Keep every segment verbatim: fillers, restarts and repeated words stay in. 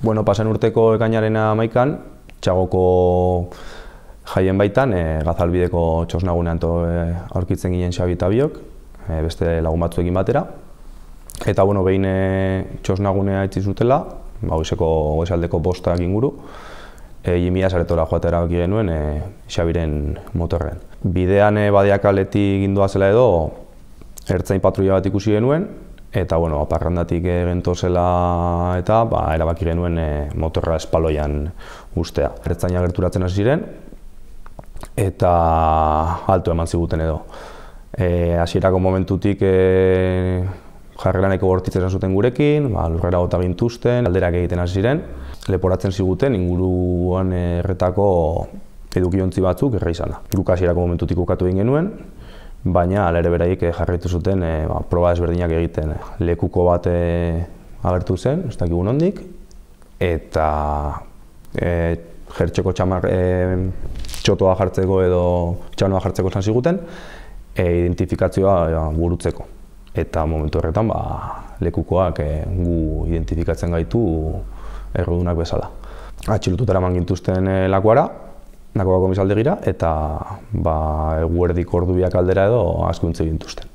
Bueno, pasan urteko ekainaren hamaikan, Txagoko jaien baitan, e, Gazalbideko txosnagunean e, aurkitzen ginen Xabi eta biok, e, beste lagun batzuekin batera. Eta, bueno, behin e, txosnagunea itzi zutela, ba, goizeko goizaldeko bostak inguru, e, Jimia saretora joatea erabaki genuen e, Xabiren motorren. Bidean e, Badiakaletik gindua zela edo, ertzain patrulla bat ikusi genuen, eta, bueno, parrandatik gentozela eta ba, erabaki genuen e, motorra espaloian ustea. Ertzaina gerturatzen hasi ziren, eta alto eman ziguten edo. E, hasierako momentutik e, jarrelaneko bortitza esan zuten gurekin, ba, lurrera gota gintuzten, alderak egiten hasi ziren, leporatzen ziguten inguruan erretako edukiontzi batzuk erra izana. Guk hasierako momentutik ukatu egin genuen, baina ala ere beraiek jarraitu zuten e, ba, proba ezberdinak egiten. Lekuko bat e, agertu zen, ez dakigu nondik, eta e, jertxeko txamar e, txotoa jartzeko edo txanoa jartzeko esan ziguten, e, identifikazioa e, burutzeko. Eta momentu horretan ba, lekukoak e, gu identifikatzen gaitu errudunak bezala. Atxilotutara eman gintuzten e, lakuara, Nakoa komisaldegira, eta ba, eguerdik ordubiak aldera edo asko untze gintuzten.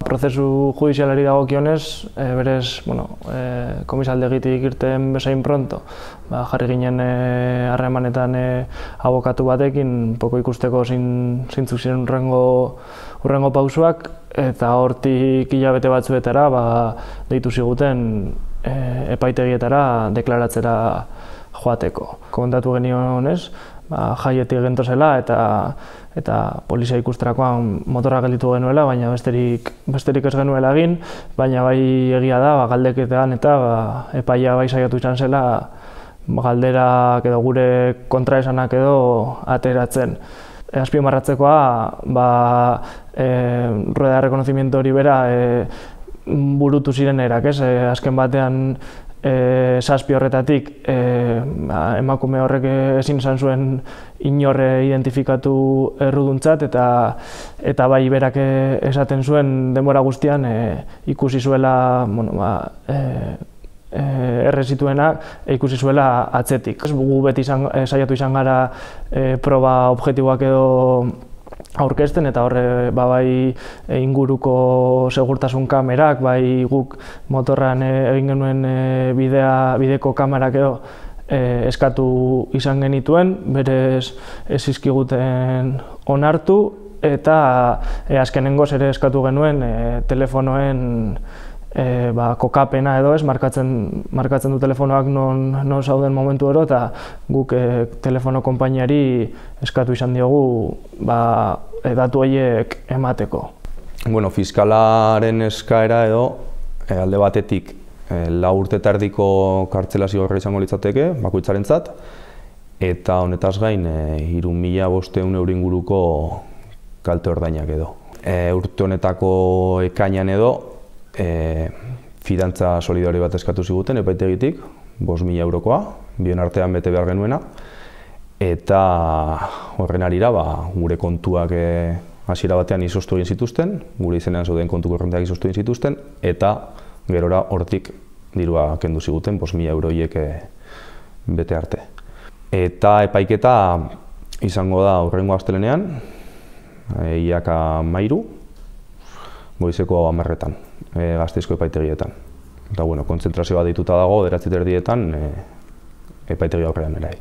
Prozesu judizialari dagokionez, e, berez, bueno, e, komisaldegitik irten bezain pronto, ba, jarri ginen harremanetan e, abokatu batekin, poko ikusteko zeintzuk ziren urrengo, urrengo pausuak, eta hortik hilabete batzuetara ba, deitu ziguten e, epaitegietara deklaratzera joateko. Komentatu genionez, ba, jaietik gentozela eta eta polizia ikusterakoan motorra gelditu genuela, baina besterik besterik ez genuela egin, baina bai egia da, ba, galdeketean eta ba, epaia bai saiatu izan zela ba, galderak edo gure kontraesanak edo ateratzen. E, azpimarratzekoa, ba, e, rueda de reconocimiento hori bera e, burutu ziren erak, ez? E, azken batean E, zazpi horretatik e, ba, emakume horrek ezin izan zuen inorre identifikatu erruduntzat eta eta bai berak esaten zuen denbora guztian e, ikusi zuela bueno, ba, e, e, erre zituenak e, ikusi zuela atzetik. Gu beti izan, e, saiatu izan gara e, proba objektiboak edo aurkezten eta horre ba, bai inguruko segurtasun kamerak, bai guk motorran egin genuen bidea, bideko kamerak edo e, eskatu izan genituen, berez ez zizkiguten onartu eta e, azkenengoz ere eskatu genuen e, telefonoen E, ba, kokapena edo ez, markatzen, markatzen du telefonoak non, non zauden momentu ero eta guk e, telefono konpainiari eskatu izan diogu ba, e, datu horiek emateko. Bueno, fiskalaren eskaera edo e, alde batetik e, lau urte tardiko kartzela zigorra izango litzateke, bakoitzarentzat, eta honetaz gain e, hiru mila bostehun euro inguruko kalte ordainak edo. E, urte honetako ekainean edo, E, fidantza solidario bat eskatu ziguten epaitegitik, bost mila eurokoa, bion artean bete behar genuena, eta horren arira ba, gure kontuak e, hasiera batean izoztu egin zituzten, gure izenean zauden kontu korronteak izoztu egin zituzten, eta gerora hortik dirua kendu ziguten, bost mila euroiek e, bete arte. Eta epaiketa izango da hurrengo astelenean, e, iaka mairu, goizeko hamarretan. E, Gasteizko epaitegietan. Eta, bueno, kontzentrazio bat dituta dago, bederatzi erdietan, e, epaitegi aurrean erai.